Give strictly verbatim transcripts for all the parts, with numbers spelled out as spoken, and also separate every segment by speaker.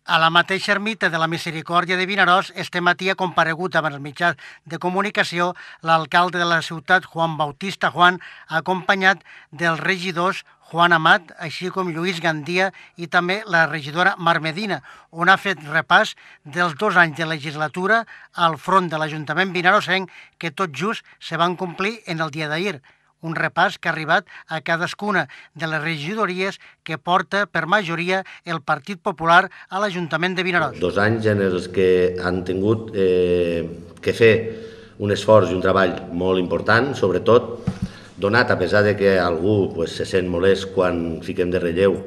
Speaker 1: A la mateixa ermita de la Misericòrdia de Vinaròs, este matí ha comparegut amb els mitjans de comunicació l'alcalde de la ciutat, Juan Bautista Juan, acompanyat dels regidors Juan Amat, així com Lluís Gandia i també la regidora Mar Medina, on ha fet repàs dels dos anys de legislatura al front de l'Ajuntament vinaròsenc que tot just se van complir en el dia d'ahir. Un repàs que ha arribat a cadascuna de les regidories que porta per majoria el Partit Popular a l'Ajuntament de Vinaròs.
Speaker 2: Dos anys en els que han tingut eh, que fer un esforç i un treball molt important, sobretot donat a pesar de que algú pues, se sent molest quan fiquem de relleu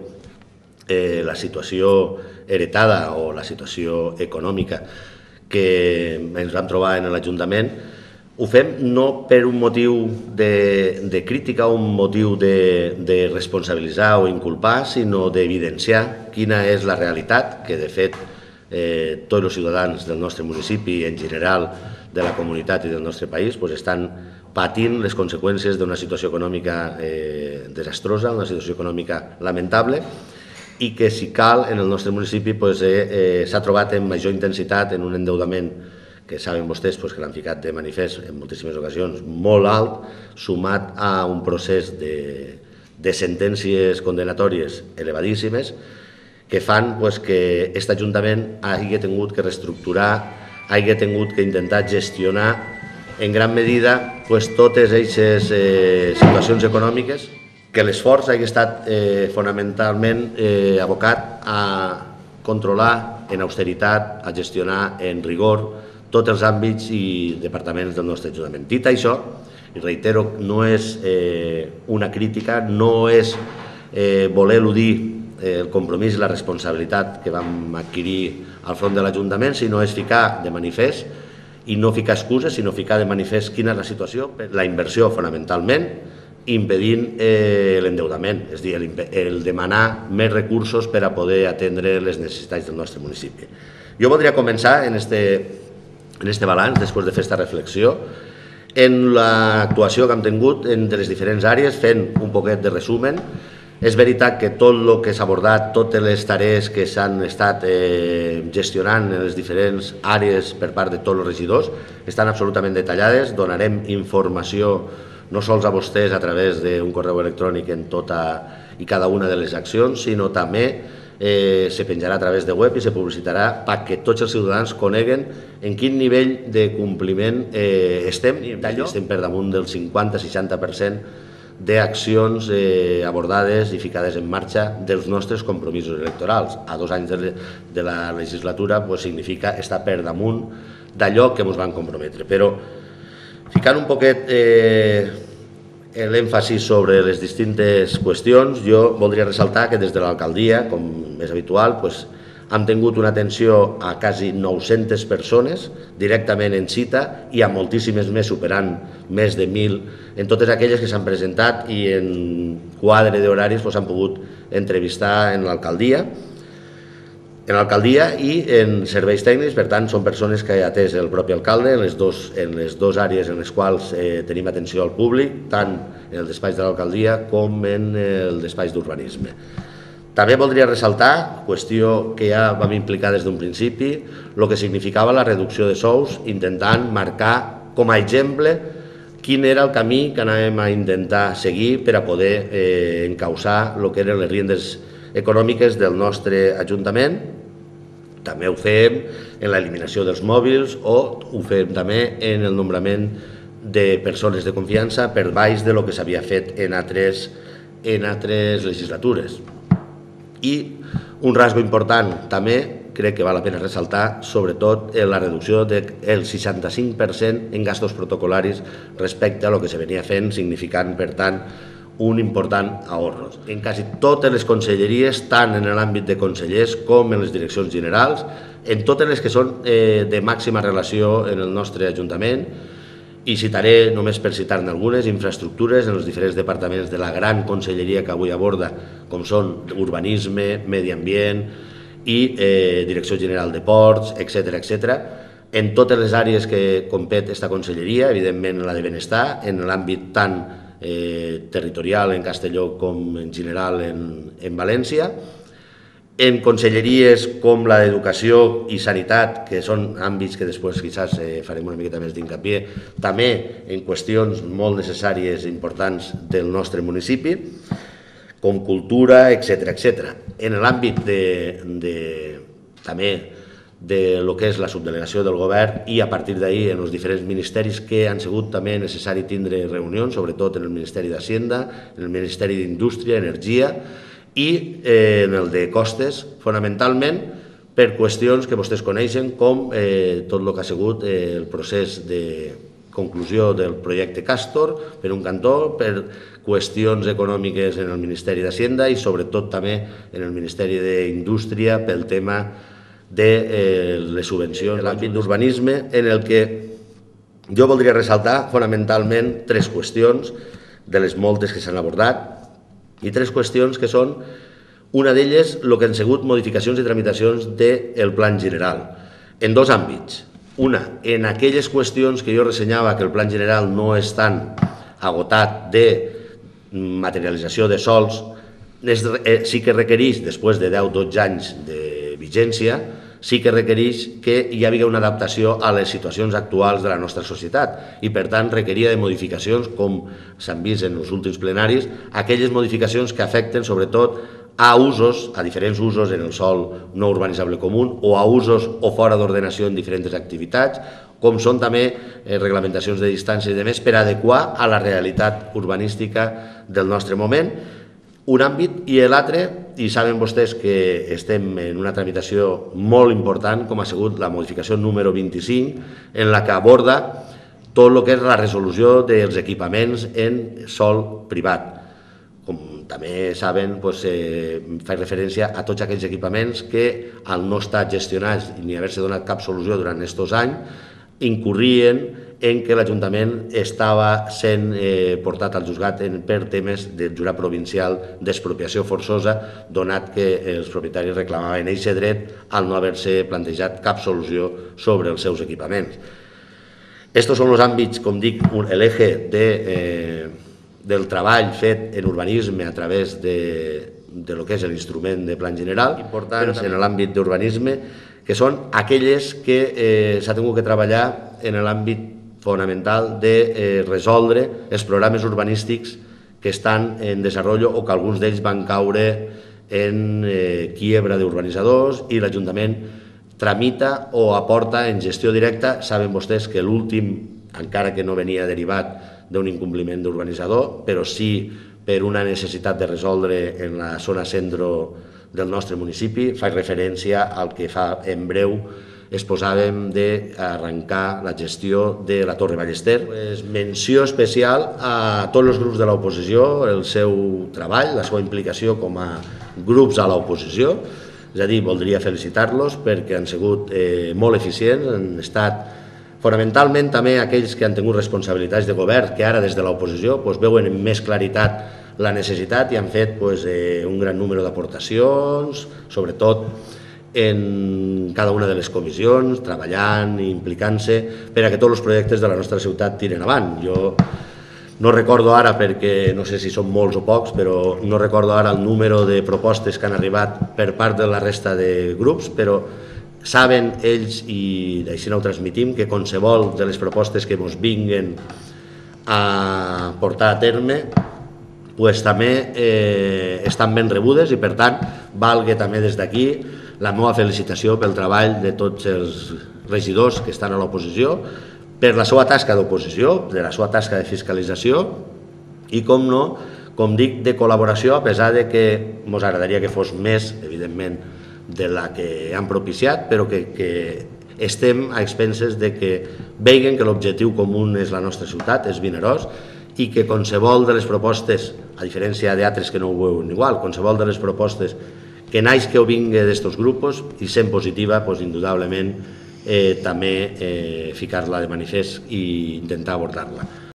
Speaker 2: eh, la situació heretada o la situació econòmica que ens vam trobar en l'Ajuntament. Ho fem no per un motiu de, de crítica o un motiu de, de responsabilitzar o inculpar, sinó d'evidenciar quina és la realitat, que de fet eh, tots els ciutadans del nostre municipi i en general de la comunitat i del nostre país pues, estan patint les conseqüències d'una situació econòmica eh, desastrosa, una situació econòmica lamentable, i que si cal en el nostre municipi pues, eh, eh, s'ha trobat en major intensitat en un endeutament que saben vostès pues, que l'han ficat de manifest en moltíssimes ocasions, molt alt, sumat a un procés de, de sentències condenatòries elevadíssimes que fan pues, que aquest Ajuntament hagi tingut que reestructurar, hagi tingut que intentar gestionar en gran medida pues, totes aquestes eh, situacions econòmiques, que l'esforç hagi estat eh, fonamentalment eh, abocat a controlar en austeritat, a gestionar en rigor tots els àmbits i departaments del nostre Ajuntament. Dit això, i reitero, no és eh, una crítica, no és eh, voler eludir eh, el compromís i la responsabilitat que vam adquirir al front de l'Ajuntament, sinó és ficar de manifest i no ficar excuses, sinó ficar de manifest quina és la situació, la inversió fonamentalment, impedint eh, l'endeutament, és a dir, el, el demanar més recursos per a poder atendre les necessitats del nostre municipi. Jo voldria començar en este en este balanç, després de fer aquesta reflexió, en l'actuació que hem tingut de les diferents àrees, fent un poquet de resumen. És veritat que tot el que s'ha abordat, totes les tarees que s'han estat eh, gestionant en les diferents àrees per part de tots els regidors estan absolutament detallades. Donarem informació no sols a vostès a través d'un correu electrònic en tota i cada una de les accions, sinó també Eh, se penjarà a través de web i se publicitarà perquè tots els ciutadans coneguen en quin nivell de compliment eh, estem. Estem per damunt del cinquanta-seixanta per cent d'accions eh, abordades i ficades en marxa dels nostres compromisos electorals. A dos anys de, de la legislatura pues, significa estar per damunt d'allò que ens van comprometre. Però ficant un poquet eh, l'èmfasi sobre les distintes qüestions, jo voldria ressaltar que des de l'alcaldia, com és habitual, pues, hem tingut una atenció a quasi nou-centes persones directament en cita i a moltíssimes més, superant més de mil, en totes aquelles que s'han presentat i en quadre d'horaris s'han pues, pogut entrevistar en l'alcaldia. En l'alcaldia i en serveis tècnics, per tant, són persones que ha atès el propi alcalde en les dues en les dos àrees en les quals eh, tenim atenció al públic, tant en el despatx de l'alcaldia com en el despatx d'urbanisme. També voldria ressaltar, qüestió que ja vam implicar des d'un principi, el que significava la reducció de sous, intentant marcar com a exemple quin era el camí que anàvem a intentar seguir per a poder eh, encausar el que eren les riendes econòmiques del nostre Ajuntament. També ho fem en l'eliminació dels mòbils o ho fem també en el nombrament de persones de confiança per baix de lo que s'havia fet en altres, en altres legislatures. I un rasgo important també, crec que val la pena ressaltar, sobretot la reducció del seixanta-cinc per cent en gastos protocolaris respecte a lo que se venia fent, significant, per tant, un important ahorro. En quasi totes les conselleries, tant en l'àmbit de consellers com en les direccions generals, en totes les que són eh, de màxima relació en el nostre Ajuntament, i citaré, només per citar-ne algunes, infraestructures en els diferents departaments de la gran conselleria que avui aborda, com són urbanisme, medi ambient i eh, Direcció General de Ports, etcètera, etcètera. En totes les àrees que compet aquesta conselleria, evidentment la de benestar, en l'àmbit tant eh, territorial en Castelló com en general en, en València, en conselleries com la d'Educació i Sanitat, que són àmbits que després quizás eh, farem una miqueta més d'incapié, també en qüestions molt necessàries i importants del nostre municipi, com cultura, etcètera, etcètera. En l'àmbit de, de, també de lo que és la subdelegació del govern i a partir d'ahí en els diferents ministeris que han sigut també necessari tindre reunions, sobretot en el Ministeri d'Hacienda, en el Ministeri d'Indústria, Energia i eh, en el de Costes, fonamentalment per qüestions que vostès coneixen com eh, tot el que ha sigut eh, el procés de conclusió del projecte Castor, per un cantó, per qüestions econòmiques en el Ministeri d'Hacienda i sobretot també en el Ministeri d'Indústria pel tema de eh, les subvencions en l'àmbit d'urbanisme, en el que jo voldria ressaltar fonamentalment tres qüestions de les moltes que s'han abordat i tres qüestions que són, una d'elles, el que han sigut modificacions i tramitacions del Plan General, en dos àmbits. Una, en aquelles qüestions que jo ressenyava que el Plan General no és tan agotat de materialització de sols, sí que requereix, després de deu o dotze anys de vigència, sí que requereix que hi hagi una adaptació a les situacions actuals de la nostra societat i, per tant, requeria de modificacions, com s'han vist en els últims plenaris, aquelles modificacions que afecten, sobretot, a usos, a diferents usos en el sòl no urbanitzable comú o a usos o fora d'ordenació en diferents activitats, com són també reglamentacions de distància i de més, per adequar a la realitat urbanística del nostre moment. Un àmbit i l'altre, i saben vostès que estem en una tramitació molt important, com ha sigut la modificació número vint-i-cinc, en la que aborda tot el que és la resolució dels equipaments en sòl privat. Com també saben, fa referència a tots aquells equipaments que, al no estar gestionats ni haver-se donat cap solució durant aquests anys, incorrien en què l'Ajuntament estava sent portat al juzgat per temes del jurat provincial d'expropiació forçosa, donat que els propietaris reclamaven aquest dret al no haver-se plantejat cap solució sobre els seus equipaments. Estos són els àmbits, com dic, l'eje del treball fet en urbanisme a través de lo que és l'instrument de Plan General, importants en l'àmbit d'urbanisme, que són aquelles que s'ha tingut que treballar en l'àmbit fonamental de resoldre els programes urbanístics que estan en desenvolupament o que alguns d'ells van caure en quiebra d'urbanitzadors i l'Ajuntament tramita o aporta en gestió directa. Saben vostès que l'últim, encara que no venia derivat d'un incompliment d'urbanitzador, però sí per una necessitat de resoldre en la zona centre del nostre municipi, fa referència al que fa en breu exposàvem d'arrencar la gestió de la Torre Ballester. Menció especial a tots els grups de l'oposició, el seu treball, la seva implicació com a grups a l'oposició, és a dir, voldria felicitar-los perquè han sigut molt eficients, han estat fonamentalment també aquells que han tingut responsabilitats de govern, que ara des de l'oposició veuen amb més claritat la necessitat i han fet un gran número d'aportacions, sobretot en cada una de les comissions, treballant i implicant-se per a que tots els projectes de la nostra ciutat tiren avant. Jo no recordo ara, perquè no sé si són molts o pocs, però no recordo ara el número de propostes que han arribat per part de la resta de grups, però saben ells, i així ho transmitim, que qualsevol de les propostes que ens vinguen a portar a terme també estan ben rebudes i, per tant, valga també des d'aquí la meva felicitació pel treball de tots els regidors que estan a l'oposició, per la seva tasca d'oposició, per la seva tasca de fiscalització i, com no, com dic, de col·laboració, a pesar que ens agradaria que fos més, evidentment, de la que han propiciat, però que estem a expenses de que vegin que l'objectiu comú és la nostra ciutat, és Vinaròs, i que qualsevol de les propostes, a diferència d'altres que no ho veuen igual, qualsevol de les propostes que naix que ho vingui d'estos grups i sent positiva, indudablement també ficar-la de manifest i intentar abordar-la.